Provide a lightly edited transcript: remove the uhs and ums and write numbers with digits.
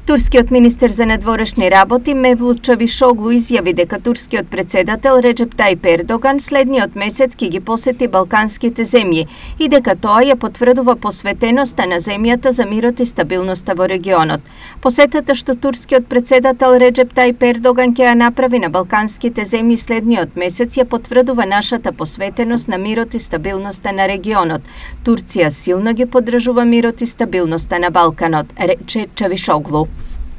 Турскиот министер за надворешни работи Мевлут Чавишоглу изјави дека турскиот председател Реджеп Тајип Ердоган следниот месец ќе ги посети балканските земји и дека тоа ја потврдува посветеноста на земјата за мирот и стабилноста во регионот. Посетата што турскиот председател Реджеп Тајип Ердоган ќе ја направи на балканските земји следниот месец ја потврдува нашата посветеност на мирот и стабилноста на регионот. Турција силно ги поддржува мирот и стабилноста на Балканот, рече Чавишоглу.